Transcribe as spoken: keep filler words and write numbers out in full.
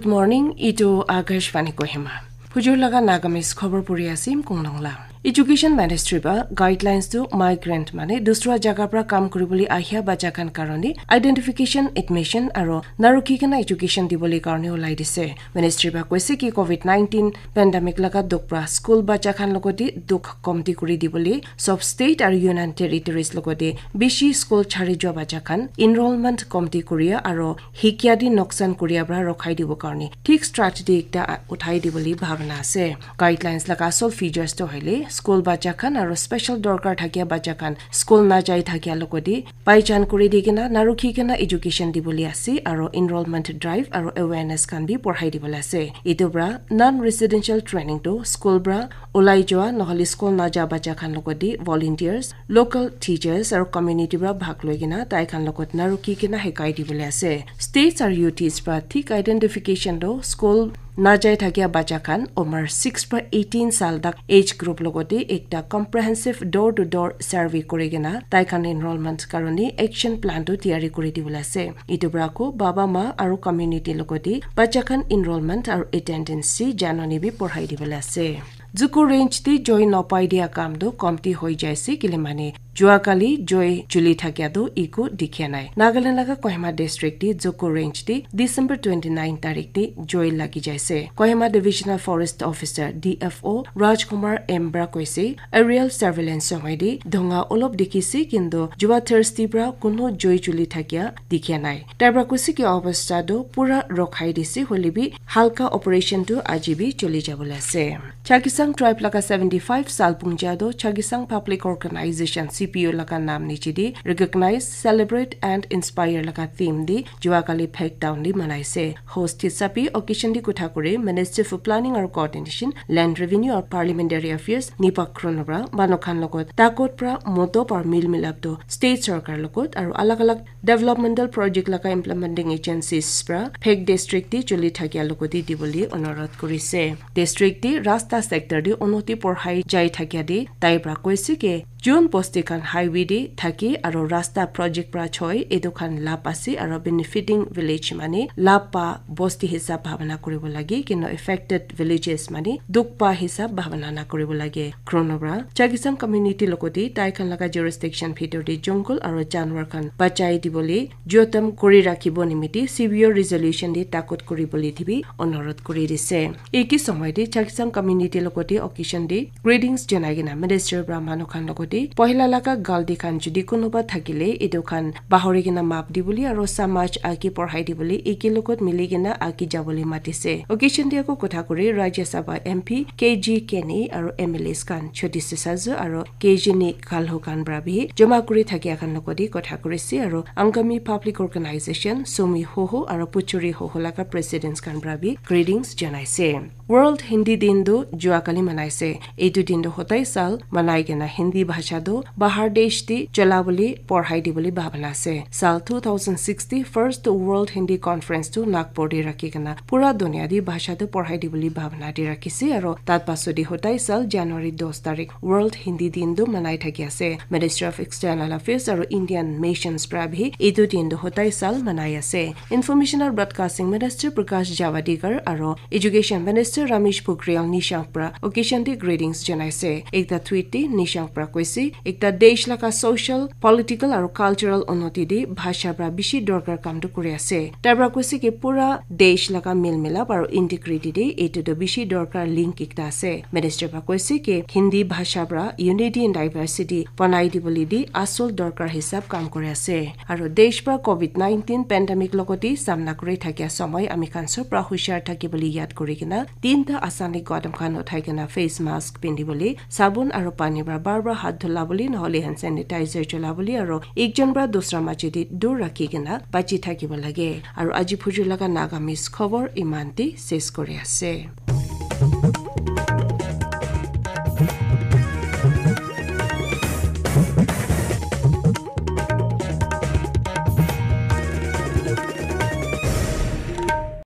Good morning, itu Akashvani Kohima. Hujur laga Nagamese khobor puri asim Kunglong la. Education Ministry ba guidelines tu migrant mane dusra jaga pra kam kuribole ahia bacha khan karone identification, admission aro narukhi kena education dibole karone ulai dise. Ministry ba koise ki covid nineteen pandemic laga dukh pra school bacha khan logoti dukh komti kuri dibole sob state aro union territories logoti bishi school chari jua bacha khan enrollment komti kuria aro hikia di noksan kuria pra rokhai dibo karone thik strategy ekta uthai dibole bhabna ase. Guidelines laga asol features to hoile school bacha khan aro special dorkar thakia bacha khan school na jai thakia logoti paichan kuri di kena narukhi kena education dibole ase aro enrollment drive aro awareness khan bi porhai dibole ase. Itu pra non residential training to school pra ulai jua nohole school na ja bacha khan logoti volunteers, local teachers aro community pra bhag loi kena tai khan logot narukhi kena hekai dibole ase. States aro U Ts pra thik identification to school na jai thakia bacha khan umar six pra eighteen sal tak age group logoti ekta comprehensive door to door survey kuri kena tai khan enrollment karone action plan tu tiyari kuri dibole ase. Itu pra ko baba ma aro community logoti bacha khan enrollment aro attendance si janoni bi porhai dibole ase. Juku range ti joy nopai dia kam tu komti hoi jaise kile mane jua kali joy juli thakia tu iku dikhia nai. Nagaland laga Kohima district ti Juku range ti December twenty nine tarik ti joy lagi jaise. Kohima Divisional Forest Officer D F O Rajkumar M Bra koise aerial surveillance somoi di dhonga olop dikhise kintu jua Thursday pra kuno joy juli thakia dikhia nai. Tai pra koise ki obostha tu pura rokhai dise hole bi halka operation tu aji bi choli jabole ase. Chakhesang tribe laga seventy five sal pungja do Chakhesang Public Organization C P O laga nam niche di recognize, celebrate and inspire laga theme di jua kali phek down di manaise. Host hisabi occasion di kutha kuri Ministry for Planning or Coordination, Land Revenue or Parliamentary Affairs Nipak Khrono pra manu khan logot takot pra moto par mil milap do state sarkar logot aru alag alag developmental project laga implementing agencies pra phek district di chuli thakia logoti dibole onurodh kurise. District di rasta sector di unoti porhai jai thakia di tai pra koise ke jun bosti khan highway di thaki aru rasta project pra choi etu khan lap ase aru benefiting village mane lap pa bosti hisab bhabana kuribo lage kino affected villages mane dukh pa hisab bhabana na kuribo lage. Khrono pra Chakhesang community logoti tai khan laga jurisdiction bhitor di jungle aru janwar khan bachai dibole jotam kuri rakhibo nimiti severe resolution di takot kuri bole thibi onurodh kuri dise. Eki somoi di Chakhesang community logoti occasion di greetings janai kena minister pra manu khan logoti pohila laga galti khan judi kunuba thakile etu khan bahori kena map dibole aru samaj agi porhai dibole eki logot mili kena agi jabole matise. Occasion di ako kotha kuri Rajya Sabha M P K G Kenny aru M L As khan Choti Sesazu aru K G Ni Kalho khan pra bi joma kuri thakia khan logoti kotha kurise aru Angami Public Organization, Sumi Hoho aru Puchuri Hoho laga presidents khan pra bi greetings janaise. World Hindi Din tu jua kali manaise. Etu din tu hotai sal manai kena Hindi bhasha tu bahar desh di chola bole porhai dibole bhabana ase. Sal two thousand six di first World Hindi Conference tu Nagpur di rakhi kena pura dunia di bhasha tu porhai dibole bhabana di rakhise aru tat paso di hotai sal January dos tarik World Hindi Din tu manai thaki ase. Ministry of External Affairs aru Indian Missions pra bhi etu din tu hotai sal manai ase. Information and Broadcasting Minister Prakash Javadekar aru Education Minister Ramesh Pokhriyal Nishank pra occasion te greetings janaise. Ekta tweet te Nishank pra koise, ekta desh laga social, political aru cultural unnoti te bhasha pra bishi dorkar kam tu kuri ase. Tai pra koise ki pura desh laga mil milap aru integrity te etu tu bishi dorkar link ekta ase. Minister pra koise ki Hindi bhasha pra unity in diversity banai dibole di asol dorkar hisab kam kuri ase. Aru desh pra covid nineteen pandemic logoti samna kuri thakia somoi ami khan sob pra hushar thaki bole yad kuri kena tinta asani qadam khan uthai kena face mask pindi bole, sabun aru pani pra bar bar hath dhula bole, nohole hand sanitizer chola bole aru ekjon pra dusra maji te dur rakhi kena bachi thakibo lage. Aru aji phujur laga Nagamese khobor iman te ses kuri ase.